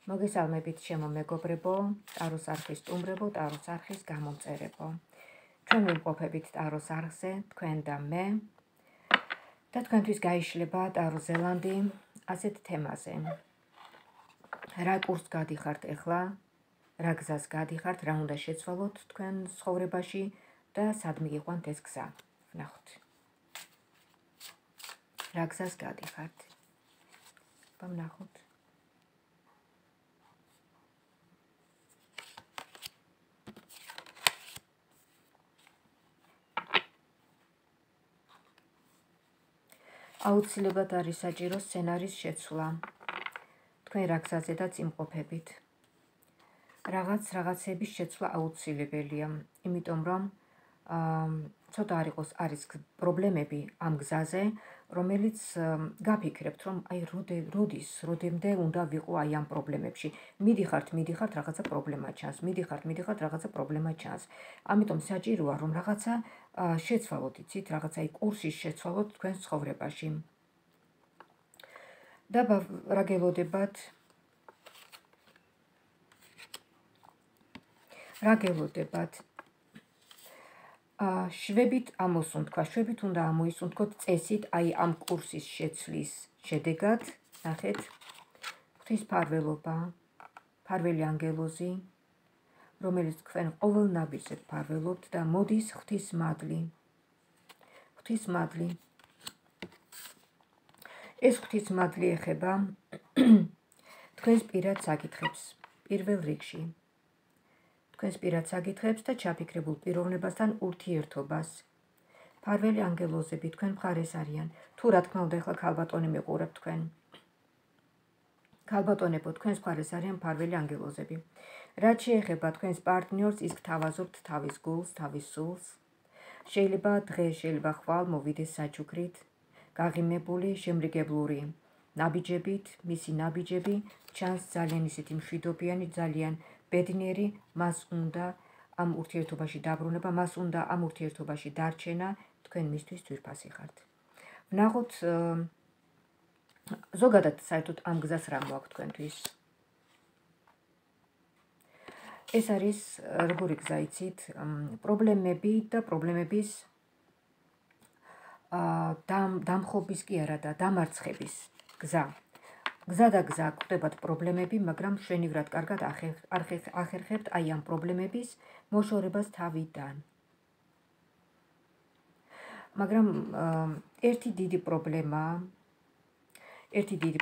მოგესალმებით ჩემო მეგობრებო, ტაროს არხის სტუმრებო, ტაროს არხის გამომწერებო. ჩვენ ვიმყოფებით ტაროს არხზე, თქვენ და მე. და თქვენთვის გაიშლება ტარო ზელანდი ასეთ თემაზე. რა კურსს გადიხართ ახლა, რა გზას გადიხართ, რა უნდა შეცვალოთ თქვენ ცხოვრებაში და სად მიგიყვანთ ეს გზა. ვნახოთ. რა გზას გადიხართ. ვნახოთ. აუცილებლად არის საჭირო სცენარის შეცვლა. თქვენ რა გზაზედაც იმყოფებით. რაღაცების შეცვლა აუცილებელია, იმიტომ რომ ცოტა არის პრობლემები ამ გზაზე, რომელიც გაფიქრებთ, რომ აი როდემდე უნდა ვიყო აი ამ პრობლემებში. მიდიხართ, რაღაცა პრობლემა ჩანს, მიდიხართ, რაღაცა პრობლემა ჩანს. ამიტომ საჭიროა, რომ რაღაცა შეცვალოთ, იცით, რაღაცა აი კურსის შეცვალოთ თქვენ ცხოვრებაში. და რა გელოდებათ? რა გელოდებათ? შვებით ამოსუნთქვა, შვებით უნდა ამოისუნთქოთ წესით აი ამ კურსის შეცვლის შედეგად. ნახეთ, ღვთისმფარველობა, მფარველი ანგელოზი, რომელიც თქვენ ყოველ ნაბიჯს ფარველობთ და მოდის ღვთისმადლი. ღვთისმადლი. ეს ღვთისმადლი ეხება თქვენს პირად საკითხებს, პირველ რიგში. თქვენს პირად საკითხებს და ჩაფიქრებულ პიროვნებასთან ურთიერთობას. მფარველი ანგელოზები თქვენ მხარეს არიან. თუ რა თქმა უნდა ახლა ქალბატონი მიყურებთ თქვენ. ქალბატონებო, თქვენს მხარეს არიან მფარველი ანგელოზები. რაც შეეხება თქვენს პარტნიორს, ის გთავაზობთ თავის გულს, თავის სულს. შეიძლება დღეს, შეიძლება ხვალ მოვიდეს საჩუქრით, გაღიმებული, შემრიგებლური ნაბიჯებით, მისი ნაბიჯები ჩანს ძალიან ისეთი მშვიდობიანი, ძალიან ბედნიერი, მას უნდა ამ ურთიერთობაში დაბრუნება, მას უნდა ამ ურთიერთობაში დარჩენა, თქვენ მისთვის ძვირფასი ხართ. ვნახოთ ზოგადად საერთოდ ამ გზას რა მოაქვს თქვენთვის. ეს არის როგორი გზა იცით, პრობლემები და პრობლემების დამხობის კი არა და დამარცხების გზა. გზა და გზა გვხვდებათ პრობლემები, მაგრამ მშვენივრად კარგად ახერხებთ აი ამ პრობლემების მოშორებას თავიდან. მაგრამ ერთი დიდი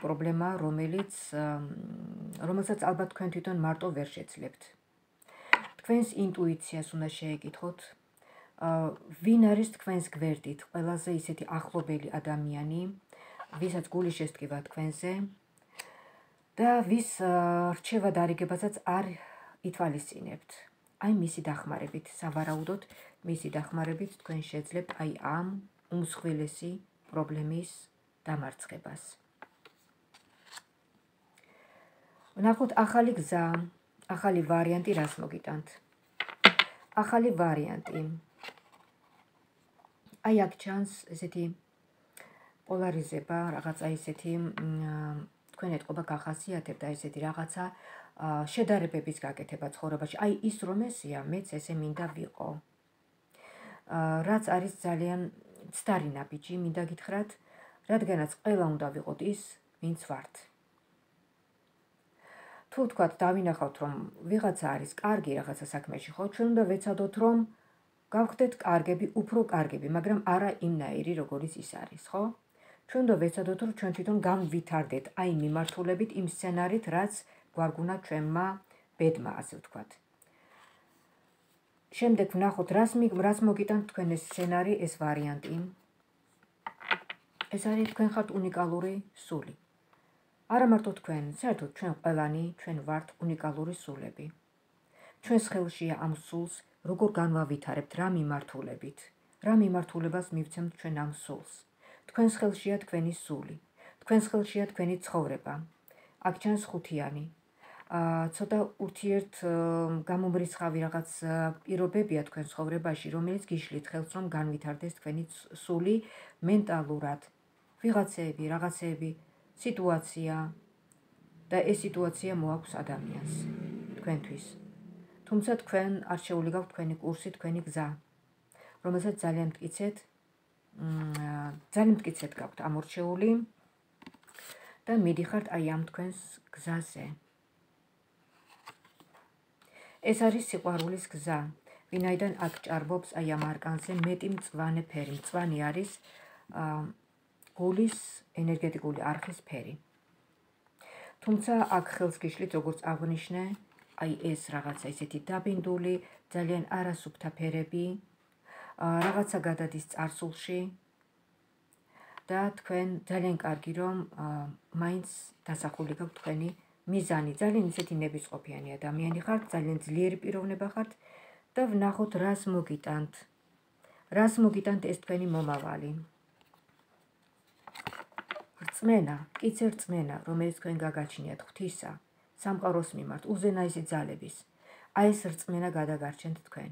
პრობლემა, რომელსაც ალბათ თქვენ თვითონ მარტო ვერ შეძლებთ. თქვენს ინტუიციას უნდა შეეკითხოთ, ვინ არის თქვენს გვერდით, ყველაზე ისეთი ახლობელი ადამიანი, ვისაც გული შესტკივა თქვენზე და ვის რჩევა დარიგებასაც არ ითვალისწინებთ. აი მისი დახმარებით, სავარაუდოდ მისი დახმარებით თქვენ შეძლებთ აი ამ უმსხვილესი პრობლემის დამარცხებას. ვნახოთ ახალი გზა, ახალი ვარიანტი რას მოგიტანთ. ახალი ვარიანტი. აი აქ ჩანს ესეთი პოლარიზება, რაღაცა ისეთი თქვენ ეთყობა გახასიათებთ და ესეთი რაღაცა შედარებების გაკეთება ცხოვრებაში. აი ის რომ ესეა, მეც ესე მინდა ვიყო. რაც არის ძალიან ცდარი ნაბიჯი, მინდა გითხრათ, რადგანაც ყველა უნდა ვიყოთ ის, ვინც ვართ. თუ თქვათ დავინახავთ, რომ ვიღაცა არის კარგი რაღაცა საქმეში, ხო, ჩვენ უნდა ვეცადოთ, რომ გავხდეთ კარგები, უფრო კარგები, მაგრამ არა იმნაირი, როგორიც ის არის, ხო? ჩვენ უნდა ვეცადოთ, რომ ჩვენ თვითონ განვითარდეთ აი მიმართულებით იმ სცენარით, რაც გვარგუნა ჩვენმა ბედმა, ასე ვთქვათ. შემდეგ ვნახოთ, რას მოგიტანთ თქვენ ეს სცენარი, ეს ვარიანტი. ეს არის თქვენ ხართ უნიკალური სული. არა მარტო თქვენ, საერთოდ ჩვენ ყველანი, ჩვენ ვართ უნიკალური სულები. ჩვენს ხელშია ამ სულს როგორ განვავითარებთ, რა მიმართულებით, რა მიმართულებას მივცემთ ჩვენ ამ სულს. თქვენს ხელშია თქვენი სული, თქვენს ხელშია თქვენი ცხოვრება. აქ ჩანს ხუთიანი. ცოტა ურთიერთ გამომრიცხავი რაღაც პირობებია თქვენ ცხოვრებაში, რომელიც გიშლით ხელს, რომ განვითარდეს თქვენი სული მენტალურად. ვიღაცები, რაღაცეები, სიტუაცია, და ეს სიტუაცია მოაქვს ადამიანს თქვენთვის. თუმცა თქვენ არჩეული გაქვთ თქვენი კურსი, თქვენი გზა, რომელსაც ძალიან მტკიცედ გაქვთ ამორჩეული და მიდიხართ აი ამ თქვენს გზაზე. ეს არის სიყვარულის გზა, ვინაიდან აქ ჭარბობს აი ამ არკანზე მეტი მწვანე ფერი. მწვანე არის გულის ენერგეტიკული არხის ფერი. თუმცა აქ ხელს გიშლით, როგორც აღვნიშნე, აი ეს რაღაცა ისეთი დაბინდული, ძალიან არასუფთა ფერები, რაღაცა გადადის წარსულში და თქვენ ძალიან კარგი რომ მაინც დასახული გაქვთ თქვენი მიზანი. ძალიან ისეთი ნებისყოფიანი ადამიანი ხართ, ძალიან ძლიერი პიროვნება ხართ და ვნახოთ რას მოგიტანთ. რას მოგიტანთ ეს თქვენი მომავალი. რწმენა, მტკიცე რწმენა, რომელიც თქვენ გაგაჩნიათ ღვთისა, სამყაროს მიმართ, უზენაესი ძალების. აი ეს რწმენა გადაგარჩენთ თქვენ.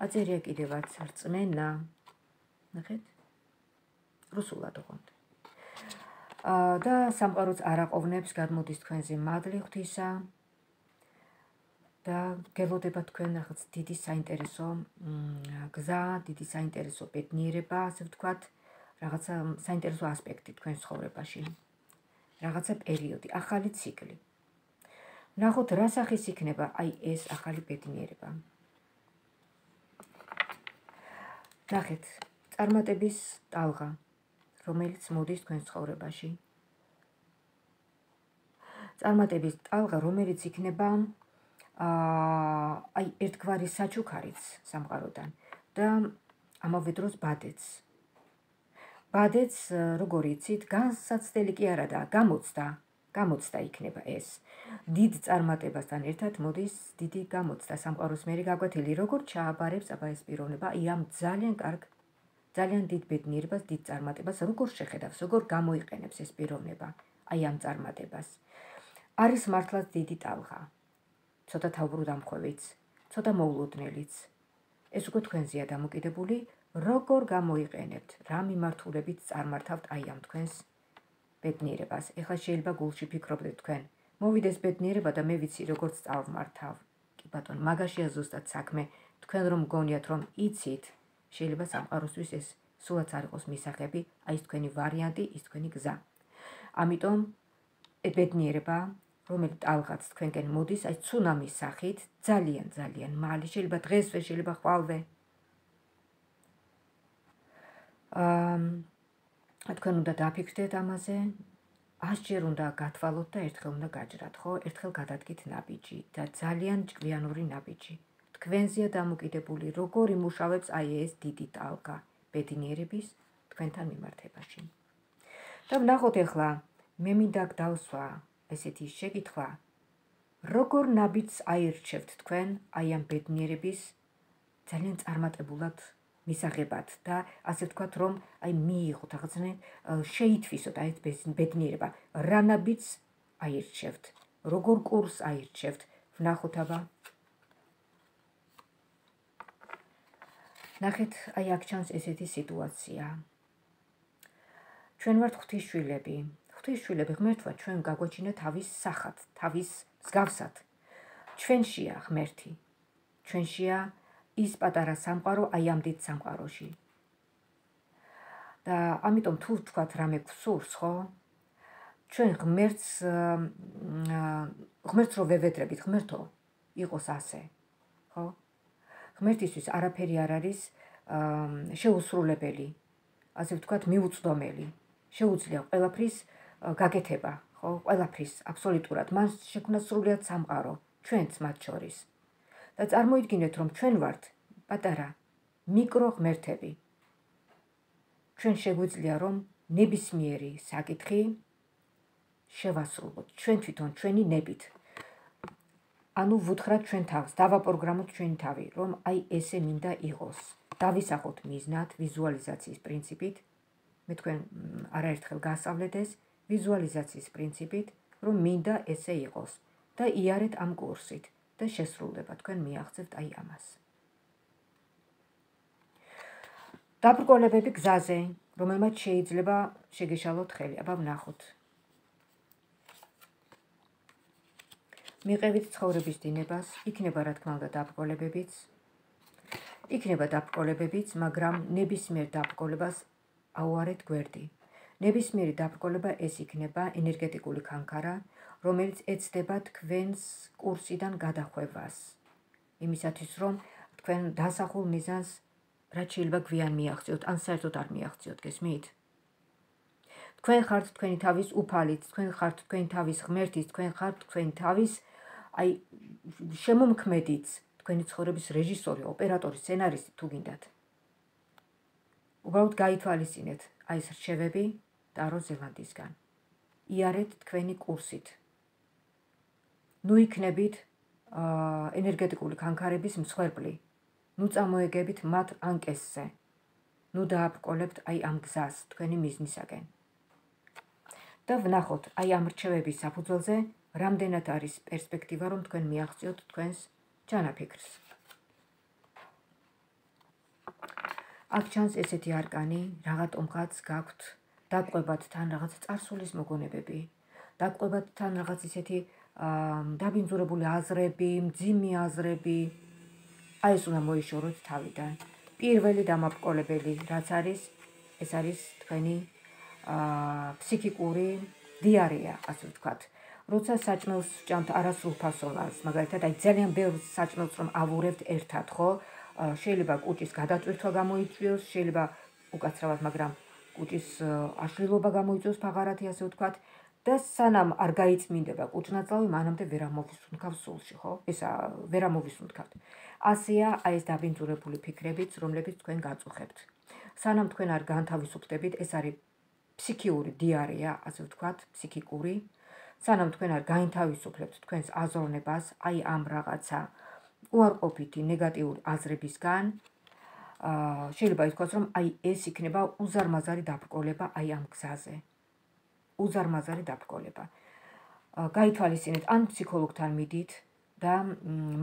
აწერია კიდევაც რწმენა. ნახეთ? რუსულად ოღონდ. და სამყაროც არ აყოვნებს, გადმოდის თქვენზე მადლი ღვთისა და გელოდება თქვენ რაღაც დიდი საინტერესო გზა, დიდი საინტერესო ბედნიერება, ასე ვთქვათ, რაღაცა საინტერესო ასპექტი თქვენ ცხოვრებაში. რაღაცა პერიოდი, ახალი ციკლი. ნახოთ რა სახის იქნება აი ეს ახალი ბედნიერება. ნახეთ, წარმატების ტალღა, რომელიც მოდის თქვენ ცხოვრებაში. წარმატების ტალღა, რომელიც იქნება აი ერთგვარი საჩუქარიც სამყაროდან და ამავე დროს ბადეც. ბადეც, როგორ იცით, განსაცდელი კი არა და გამოცდა იქნება ეს. დიდ წარმატებასთან ერთად მოდის დიდი გამოცდა სამყაროს მერე გაკვეთილი, როგორ ჩააბარებს აბა ეს პიროვნება აი ამ ძალიან კარგ, ძალიან დიდ ბედნიერებას, დიდ წარმატებას, როგორ შეხედავს, როგორ გამოიყენებს ეს პიროვნება აი ამ წარმატებას. არის მართლაც დიდი ტალღა. ცოტა თავბრუდამხვევიც, ცოტა მოულოდნელიც. ეს უკვე თქვენზეა დამოკიდებული, როგორ გამოიყენებთ, რა მიმართულებით წარმართავთ აი ამ თქვენს ბედნიერებას. ეხლა შეიძლება გულში ფიქრობდეთ თქვენ, მოვიდეს ბედნიერება და მე ვიცი როგორც წავმართავ. კი ბატონო, მაგაშია ზუსტად საქმე. თქვენ რომ გონიათ რომ იცით, შეიძლება სამყაროსთვის ეს სულაც არ იყოს მისაღები, აი ეს თქვენი ვარიანტი, ის თქვენი გზა. ამიტომ ბედნიერება, რომელიც ტალღაც თქვენკენ მოდის, აი ცუნამის სახით, ძალიან მალე, შეიძლება დღესვე, შეიძლება ხვალვე. თქვენ უნდა დაფიქრდეთ ამაზე, 100 ჯერ უნდა გათვალოთ და ერთხელ უნდა გაჯრათ, ხო? ერთხელ გადადგით ნაბიჯი და ძალიან ჭკვიანური ნაბიჯი. თქვენზეა დამოკიდებული, როგორ იმუშავებს აი ეს დიდი ტალღა ბედნიერების თქვენთან მიმართებაში. და ვნახოთ ახლა, მე მინდა დავსვა ესეთი შეკითხვა, როგორ ნაბიჯს აირჩევთ თქვენ აი ამ ბედნიერების ძალიან წარმატებულად მისაღებად და ასე ვთქვათ, რომ აი მიიღოთ რაღაცნაირ შეითვისოთ აი ეს ბედნიერება. რა ნაბიჯს აირჩევთ, როგორ კურსს აირჩევთ, ვნახოთ აბა. ნახეთ, აი აქ ჩანს ესეთი სიტუაცია. ჩვენ ვართ ღვთისშვილები. ღვთისშვილები ღმერთმა ჩვენ გაგვაჩინა თავის სახად, თავის მსგავსად. ჩვენშია ღმერთი. ჩვენშია ის პატარა სამყარო აი ამ დიდ სამყაროში. და ამიტომ თუ ვთქვათ რამე გვსურს, ხო? ჩვენ ღმერთს რო ვევედრებით, ღმერთო იყოს ასე, ხო? ღმერთისთვის არაფერი არ არის შეუსრულებელი, ასე ვთქვათ, მიუწვდომელი. შეუძლია ყველაფრის გაკეთება, ხო? ყველაფრის აბსოლუტურად. მან შექმნა სრულიად სამყარო, ჩვენც მათ შორის. და წარმოიდგინეთ, რომ ჩვენ ვართ პატარა მიკრო ღმერთები. ჩვენ შეგვიძლია, რომ ნებისმიერი საკითხი შევასრულოთ ჩვენ თვითონ, ჩვენი ნებით. ანუ ვუთხრათ ჩვენ თავს, დავაპროგრამოთ ჩვენი თავი, რომ აი ესე მინდა იყოს. დავისახოთ მიზნად, ვიზუალიზაციის პრინციპით. მე თქვენ არაერთხელ გასავლეთ ეს ვიზუალიზაციის პრინციპით, რომ მინდა ესე იყოს და იარეთ ამ კურსით და შესრულდება თქვენ მიაღწევთ აი ამას. დაბრკოლებები გზაზე, რომელმაც შეიძლება შეგეშალოთ ხელი. აბა ვნახოთ. მიყევით ცხოვრების დინებას, იქნება რა თქმა უნდა დაბრკოლებებიც, მაგრამ ნებისმიერ დაბრკოლებას აუარეთ გვერდი. ნებისმიერი დაბრკოლება ეს იქნება ენერგეტიკული კანკარა, რომელიც ეცდება თქვენს კურსიდან გადახვევას. იმისათვის, რომ თქვენ დასახულ მიზანს რაც შეიძლება გვიან მიაღწიოთ, ან საერთოდ არ მიაღწიოთ, გესმით? თქვენ ხართ თქვენი თავის უფალით, თქვენ ხართ თქვენი თავის ღმერთის, თქვენ ხართ თქვენი თავის შემომქმედიც, თქვენი ცხოვრების რეჟისორი, ოპერატორი, სცენარისტი თუ გინდათ. უბრალოდ გაითვალისწინეთ ეს რჩევები ტარო ზელანდიისგან. იარეთ თქვენი კურსით. ნუ იქნებით ენერგეტიკული კანკარების მსხვერპლი. ნუ წამოეგებით მათ ანკესზე. ნუ დააბრკოლებთ ამ გზას თქვენი მიზნისაკენ. და ვნახოთ ამ რჩევების საფუძველზე რამდენად არის პერსპექტივა, რომ თქვენ მიაღწიოთ თქვენს ჩანაფიქრს. აქ ჩანს ესეთი არკანი, რაღაცომღაც გაქვთ დაგყვებათ თან რაღაც წარსულის მოგონებები, დაგყვებათ თან რაღაც ისეთი დაბინძურებული აზრები, მძიმე აზრები. ეს უნდა მოიშოროთ თავიდან. პირველი დამაბრკოლებელი რაც არის, ეს არის თქვენი ფსიქიკური დიარეა, ასე ვთქვათ. როცა საჭმელს ვჭამთ არასრულფასოვანს, მაგალითად, ძალიან ბევრ საჭმელს რომ ავურებთ ერთად, ხო? შეიძლება კუჭის გადაწვირთვა გამოიწვიოს, შეიძლება უკაცრავად, მაგრამ კუჭის აშლილობა გამოიწვიოს ფაღარათი, ასე ვთქვათ. და სანამ არ გაიწმინდება კუჭნაწლავი, მანამდე ვერ ამოვისუნთქავ სულში, ხო? ვერ ამოვისუნთქავთ. ასეა ეს დაბინძურებული ფიქრებიც, რომლებიც თქვენ გაწუხებთ. სანამ თქვენ არ განთავისუფლდებით, ეს არის ფსიქიური დიარეა, ასე ვთქვათ, ფსიქიკური. სანამ თქვენ არ გაინთავისუფლებთ თქვენს აზროვნებას, ამ რაღაცა უარყოფითი ნეგატიური აზრებისგან, შეიძლება ითქვას, რომ ეს იქნება უზარმაზარი დაბრკოლება ამ გზაზე. უზარმაზარი დაბრკოლება. გაითვალისწინეთ, ან ფსიქოლოგთან მიდით და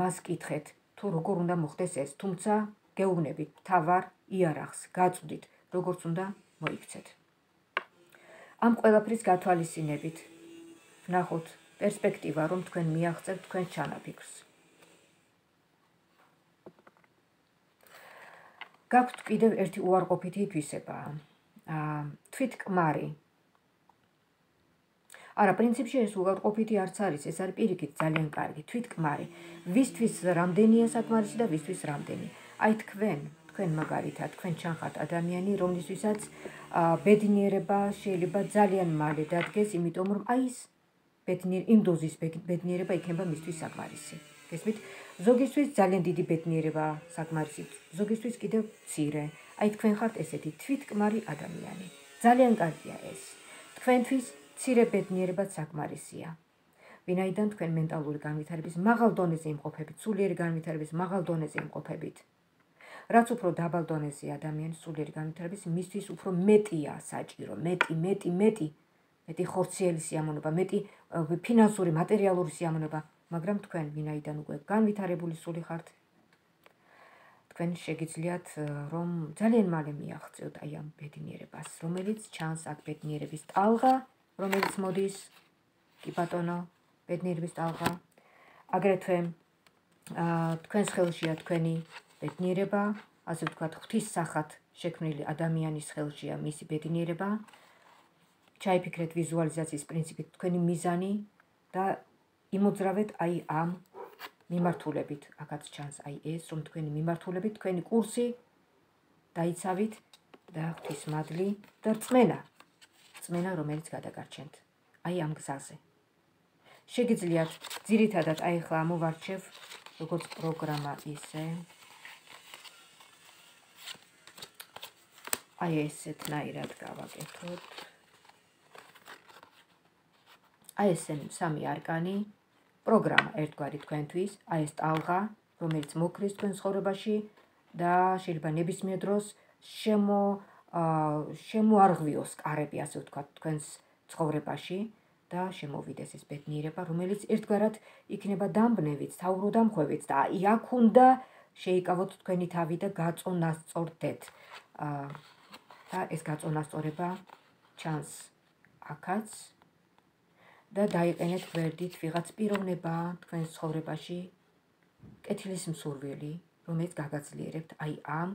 მას კითხეთ, თუ როგორ უნდა მოხდეს ეს, თუმცა გეუბნებით თავარ იარაღს, გაწვდით, როგორც უნდა მოიქცეთ. ამ ყველაფრის გათვალისწინებით ვნახოთ პერსპექტივა, რომ თქვენ მიაღწევთ თქვენს ჩანაფიქრს. გაქვთ კიდევ ერთი უარყოფითი ითვისება, თვითკმარი. არა, პრინციპში ეს უარყოფითი არც არის, ეს არის პირიქით ძალიან კარგი, თვითკმარი. ვისთვის რამდენია საკმარისი და ვისთვის რამდენი. თქვენ მაგალითად, თქვენ ჩანხართ ადამიანი, რომლისთვისაც ბედნიერება შეიძლება ძალიან მალე დადგეს, იმიტომ რომ იმ დოზის ბედნიერება იქნება მისთვის საკმარისი. გესმით? ზოგისთვის ძალიან დიდი ბედნიერება საკმარისი, ზოგისთვის კიდევ მცირე. თქვენ ხართ ესეთი თვითკმარი ადამიანი. ძალიან კარგია ეს. თქვენთვის მცირე ბედნიერებაც საკმარისია. ვინაიდან თქვენ მენტალური განვითარების მაღალ დონეზე იმყოფებით, სულიერი განვითარების მაღალ დონეზე იმყოფებით. რაც უფრო დაბალ დონეზე ადამიანის სულიერი განვითარების, მისთვის უფრო მეტია საჭირო, მეტი ხორციელი სიამოვნება, მეტი ფინანსური, მატერიალური სიამოვნება, მაგრამ თქვენ ვინაიდან უკვე განვითარებული სული ხართ, თქვენ შეგიძლიათ რომ ძალიან მალე მიაღწიოთ ამ ბედნიერებას, რომელიც ჩანს აქ ბედნიერების ტალღა, რომელიც მოდის, კი ბატონო, ბედნიერების ტალღა. აგრეთვე თქვენს ხელშია თქვენი ბედნიერება, ასე ვთქვათ, ღვთის სახად შექმნილი ადამიანის ხელშია მისი ბედნიერება. ჩაიფიქრეთ ვიზუალიზაციის პრინციპით თქვენი მიზანი და იმოძრავეთ ამ მიმართულებით. აქაც ჩანს ეს, რომ თქვენი მიმართულებით, თქვენი კურსი დაიცავით და ღვთის მადლი და რწმენა, რომელიც გადაგარჩენთ ამ გზაზე. შეგიძლიათ ძირითადად ახლა ამოვარჩევ როგორც პროგრამა ისე ესეთნაირად გავაკეთოთ. ეს სამი არკანი, პროგრამა ერთგვარი თქვენთვის, ეს ტალღა, რომელიც მოკრის თქვენ ცხოვრებაში და შეიძლება ნებისმიერ დროს შემოარღვიოს კარები, ასე ვთქვათ, თქვენს ცხოვრებაში და შემოვიდეს ეს ბედნიერება, რომელიც ერთგვარად იქნება დამბნევით, თავროდამხვევით და აქ უნდა შეიკავოთ თქვენი თავი და გაწონასწორდეთ. და ეს გაწონასწორება ჩანს აქაც და დაიყენეთ გვერდით ვიღაც პიროვნება თქვენს ცხოვრებაში, კეთილის მსურველი, რომელიც გაგაძლიერებთ აი ამ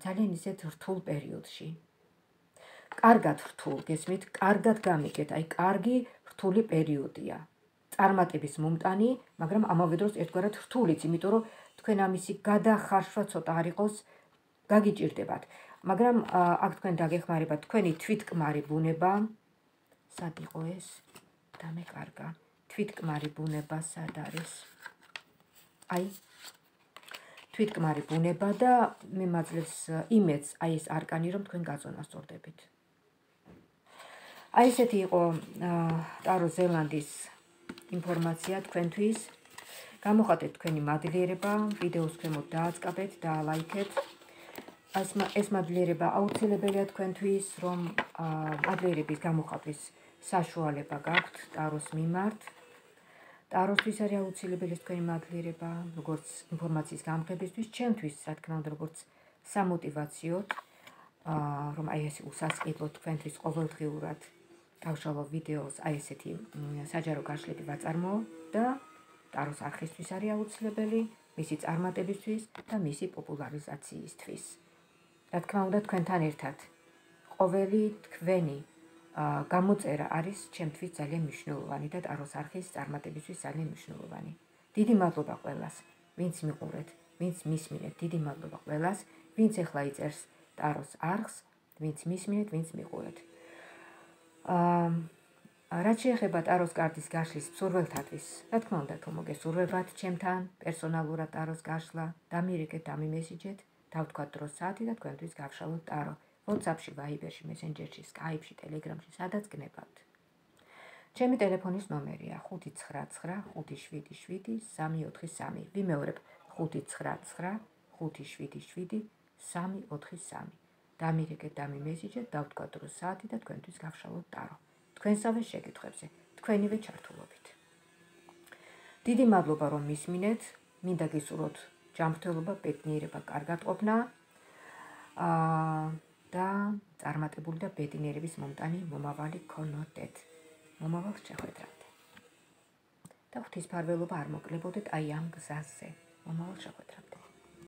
ძალიან ისეთ რთულ პერიოდში. კარგად რთულ, გესმით, კარგად გამიგეთ, აი კარგი რთული პერიოდია. წარმატების მომტანი, მაგრამ ამავე დროს ერთგვარად რთულიც, იმიტომ რომ თქვენ ამისი გადახარშვა ცოტა არ იყოს, გაგიჭირდებათ. მაგრამ აქ თქვენ დაგეხმარებათ თქვენი თვითკმარი ბუნება, სად იყო ეს? დამეკარგა. თვითკმარი ბუნება სად არის? აი თვითკმარი ბუნება და მე მაძლევს იმედს აი ეს არკანი, რომ თქვენ გაწონასწორდებით. აი ესეთი იყო ტარო ზელანდის ინფორმაცია თქვენთვის. გამოხატეთ თქვენი მადლიერება, ვიდეოს ქვემოთ დააწყაბეთ და ლაიქეთ. ეს მადლიერება აუცილებელია თქვენთვის, რომ მადლიერების გამოხატვის საშუალება გაქვთ ტაროს მიმართ. ტაროსთვის არის აუცილებელი თქვენი მადლიერება, როგორც ინფორმაციის გამყებისთვის, ჩემთვის, რა თქმა უნდა, როგორც სამოტივაციოდ, რომ აი ეს უსასყიდლოდ თქვენთვის ყოველდღიურად გავშალო ვიდეოს, აი ესეთი საჯარო გაშლები ვაწარმოო და ტაროს არხისთვის არის აუცილებელი, მისი წარმატებისთვის და მისი პოპულარიზაციისთვის. რა თქმა უნდა, თქვენთან ერთად ყოველი თქვენი გამოწერა არის ჩემთვის ძალიან მნიშვნელოვანი და ტაროს არხის წარმატებისთვის ძალიან მნიშვნელოვანი. დიდი მადლობა ყველას, ვინც მიყურეთ, ვინც მისმინეთ, დიდი მადლობა ყველას, ვინც ახლა იწერს ტაროს არხს, ვინც მისმინეთ, ვინც მიყურეთ. რაც შეეხება ტაროს კარტის გაშლის მსურველთათვის, რა თქმა უნდა, თუ მოგესურვებათ ჩემთან პერსონალურად ტაროს გაშლა, დამირეკეთ, დამიმესიჯეთ, დავთქვათ დრო საათი და თქვენთვის გავშალოთ ტარო. WhatsApp-ში, Viber-ში, Messenger-ში, Skype-ში, Telegram-ში, სადაც გნებავთ. ჩემი ტელეფონის ნომერია 599577343. ვიმეორებ 599577343. დამირეკეთ, დამიმესიჯეთ, დავთქვათ დრო საათი და თქვენთვის გავშალოთ ტარო. თქვენსავე შეკითხვებზე, თქვენივე ჩართულობით. დიდი მადლობა, რომ მისმინეთ, მინდა გისურვოთ ჯანმრთელობა, ბედნიერება, კარგატყოფნა და წარმატებული და ბედნიერების მომტანი მომავალი გქონოდეთ. მომავალს შეხვედრამდე. და ღვთისმფარველობა არ მოკლებოდეთ აი ამ გზაზე. მომავალ შეხვედრამდე.